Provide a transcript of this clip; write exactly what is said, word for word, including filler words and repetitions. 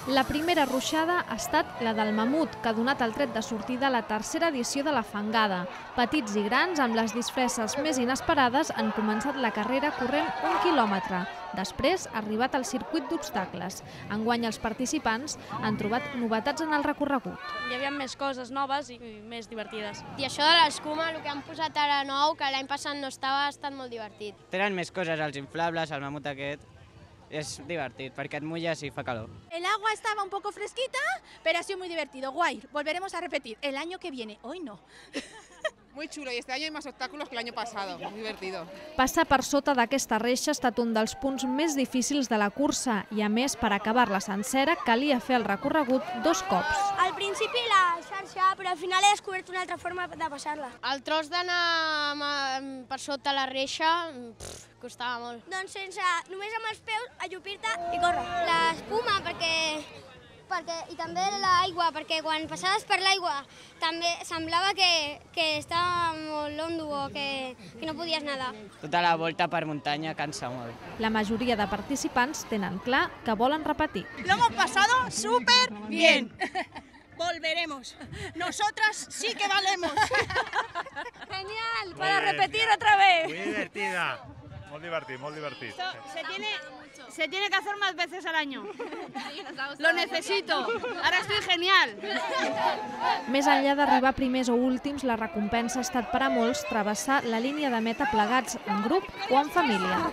La primera ruixada ha estat la del mamut, que ha donat el tret de sortida a la tercera edició de la fangada. Petits i grans, amb les disfresses més inesperades, han començat la carrera corrent un quilòmetre. Després ha arribat el circuit d'obstacles. Enguany els participants han trobat novetats en el recorregut. Hi havia més coses noves i més divertides. I això de l'escuma, el que han posat ara nou, que l'any passat no estava, ha estat molt divertit. Tenen més coses, els inflables, el mamut aquest. Es divertit, perquè et mulles i fa calor. El agua estaba un poco fresquita, pero ha sido muy divertido. Guay, volveremos a repetir el año que viene. Hoy no. Muy chulo, y este año hay más obstáculos que el año pasado, muy divertido. Passar per sota d'aquesta reixa ha estat un dels punts més difícils de la cursa i, a més, per acabar-la sencera, calia fer el recorregut dos cops. Al principi la xarxa, però al final he descobert una altra forma de passar-la. El tros d'anar per sota la reixa pff, costava molt. Doncs sense, només amb els peus, ajupir-te i córrer. L'espuma, perquè... Perquè, i també l'aigua, perquè quan passaves per l'aigua també semblava que, que estava molt londo o que, que no podies nedar. Tota la volta per muntanya cansa molt. La majoria de participants tenen clar que volen repetir. Lo hemos pasado súper bien. Volveremos. Nosotras sí que valemos. Genial, para repetir otra vez. Muy divertida. Molt divertit, molt divertit. Se tiene, se tiene que hacer más veces al año. Lo necesito. Ahora estoy genial. Més enllà d'arribar primers o últims, la recompensa ha estat per a molts travessar la línia de meta plegats en grup o en família.